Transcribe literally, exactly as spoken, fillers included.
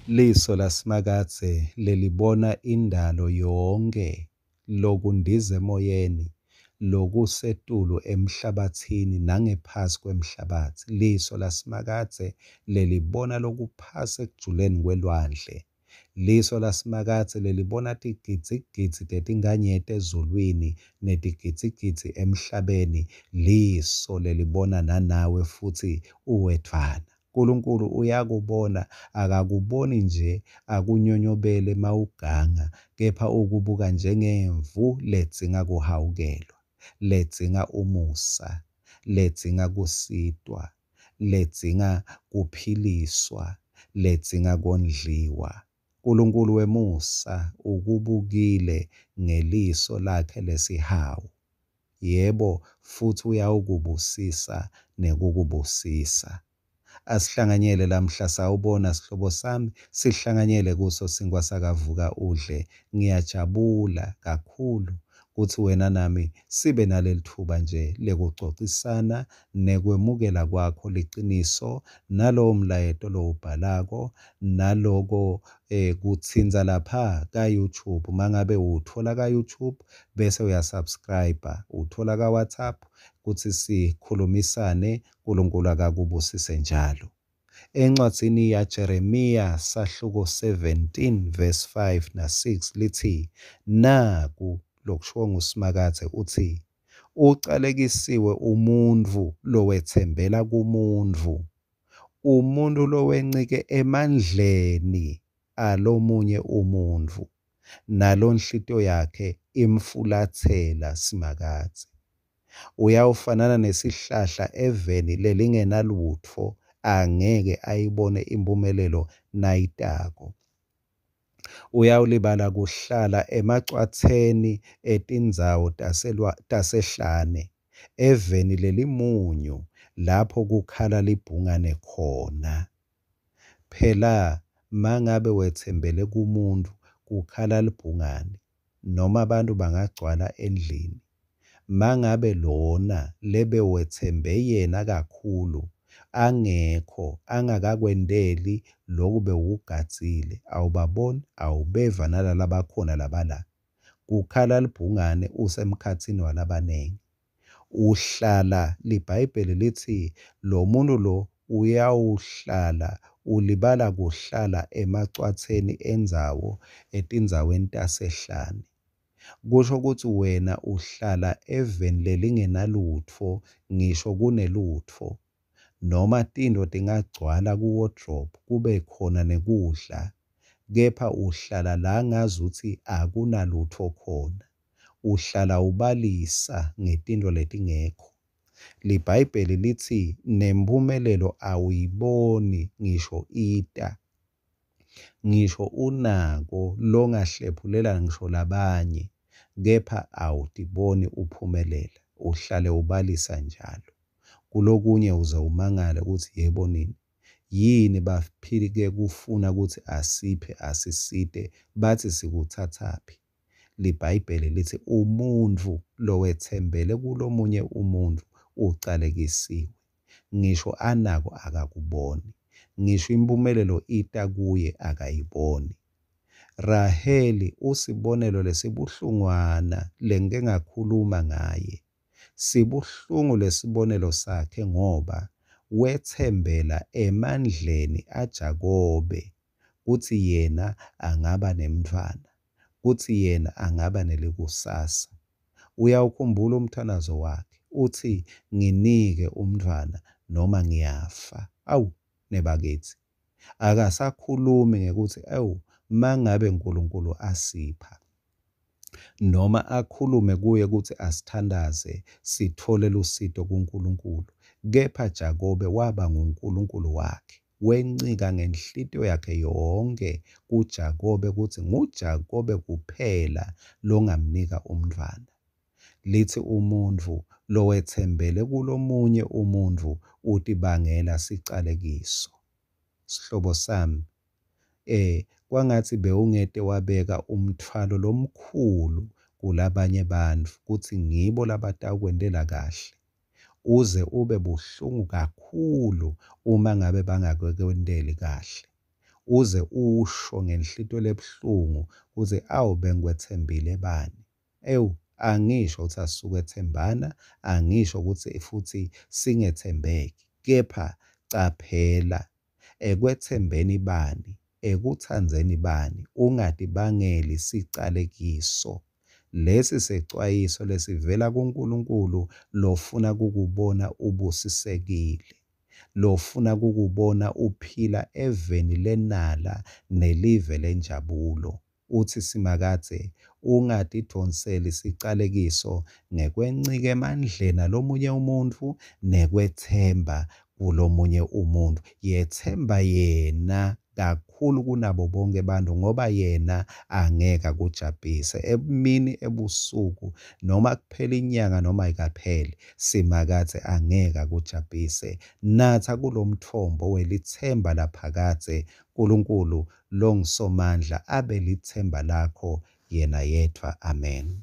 Liso laSimakadze lelibona indalo yonkhe, lokundiza emoyeni, lokusetulu emhlabatsini nangephasi kwemhlabatsi. Liso laSimakadze lelibona lokuphasi ekujuleni kwelwandle. Liso laSimakadze lelibona tigidzigidzi tetinkhanyeti ezulwini netigidzigidzi emhlabeni. Liso lelibona nanawe futsi uwedvwana. Nkulunkulu uyakubona, akakuboni nje akunyonyobele mawuganga, kepha ukubuka njengemvu ledzinga kuhawukelwa, ledzinga umusa, ledzinga kusitwa, ledzinga kuphiliswa, ledzinga kondliwa. Nkulunkulu wemusa ukubukile ngeliso lakhe lesihawu. Yebo, futsi uyawukubusisa nekukubusisa. Asihlanganyele lamhla, sawubona sihlobo sami, sihlanganyele kuso sinkhwa sakavuka udle. Ngiyajabula kakhulu kutsi wena nami sibe nalelitfuba nje lekucocisana nekwemukela kwakho liciniso nalowo mlayeto lowubhalako naloko eh, kutsintsa lapha ka-YouTube. Mangabe uwutfola ka-YouTube bese uyasubscribe, utfola ka-WhatsApp kutsi sikhulumisane. Nkulunkulu akakubusise njalo. Encwadzini yaJeremiya sahluko seventeen verse five na six litsi, naku lokushiwo nguSimakadze utsi, ucalekisiwe umuntfu lowetsembela kumuntfu, umuntfu lowencike emandleni alomunye umuntfu, nalonhlitiyo yakhe imfulatsela Simakadze. Uyawufanana nesihlahla eveni lelingenalutfo, angeke ayibone imphumelelo nayitako. Uyawulibala kuhlala emacwatseni etindzawo tasehlane, eveni lelimunyu lapho kukhala libhungane khona. Phela mangabe wetsembele kumuntfu kukhala libhungane, noma abantu bangagcwala endlini. Mangabe lona lebewetsembe yena kakhulu angekho, angakakwenteli loku bewukugadzile, awubaboni, awubeva nalalabakhona labala. Kukhala libhungane usemkhatsini walabanengi. Uhlala, liBhayibheli litsi lo muntu lo uyawuhlala, ulibala kuhlala emacwatseni endzawo etindzaweni tasehlane. Kusho kutsi wena uhlala eveni lelingenalutfo, ngisho kunelutfo. Noma tintfo tingagcwala ku-wardrobe kube khona nekudla, kepha uhlala la ngazuthi akunalutfo khona. Uhlala ubalisa ngetintfo letingekho. LiBhayibheli litsi nemphumelelo awuyiboni ngisho ita. Ngisho unako longahlephulela ngisho labanye, kepha awutiboni uphumelela, uhlale ubalisa njalo. Kulokunye uze umangale kutsi yebo nini, yini baphilike kufuna kutsi asiphe asisite, batsi sikutsatsaphi. LiBhayibheli litsi umuntfu lowetsembele kulomunye umuntfu ucalekisiwe. Ngisho anako akakuboni, ngisho imphumelelo ita kuye akayiboni. Raheli usibonelo lesibuhlungwana lengike ngakhuluma ngaye. Sibuhlungu lesibonelo sakhe ngoba wetsembela emandleni aJakobe kutsi yena angaba nemntfwana, kutsi yena angaba nelikusasa. Uyawukhumbula umthandazo wakhe, utsi nginike umntfwana noma ngiyafa. Awu nebakitsi, akasakhulumi ngekutsi ewu mangabe Nkulunkulu asipha, noma akhulume kuye kutsi asithandaze sithole lusito kuNkulunkulu. Kepha Jakobe waba nguNkulunkulu wakhe, wencika ngenhlitiyo yakhe yonke kuJakobe kutsi nguJakobe kuphela longamnika umntfwana. Litsi umuntfu lowetsembele kulomunye umuntfu utibangela sicalekiso. Sihlobo sami, eh kwangatsi bewungete wabeka umtfwalo lomkhulu kulabanye bantfu kutsi ngibo labatawukwentela kahle, uze ube buhlungu kakhulu uma ngabe bangakwenteli kahle. Uze usho ngenhlitiyo lebuhlungu kutsi awu bengikwetsembile bani. Ewu, angisho kutsi asisukwetsembana, angisho kutsi futsi singetsembeki, kepha caphela ekwetsembeni bani, ekutsandzeni bani, ungatibangeli sicalekiso. Lesi secwayiso lesivela kuNkulunkulu lofuna kukubona ubusisekile, lofuna kukubona uphila eveni lenala nelive lenjabulo. Utsi Simakadze, ungatidvonseli sicalekiso ngekwencika emandleni alomunye umuntfu nekwetsemba kulomunye umuntfu. Yetsemba yena kakhulu kunabo bonke bantfu ngoba yena angeke akujabhise emini ebusuku noma kuphela inyanga noma ayikapheli Simakadze angeke akujabhise. Natsa kulomtfombo welitsemba laphakadze Nkulunkulu longuSomandla abe litsemba lakho yena yedvwa. Amen.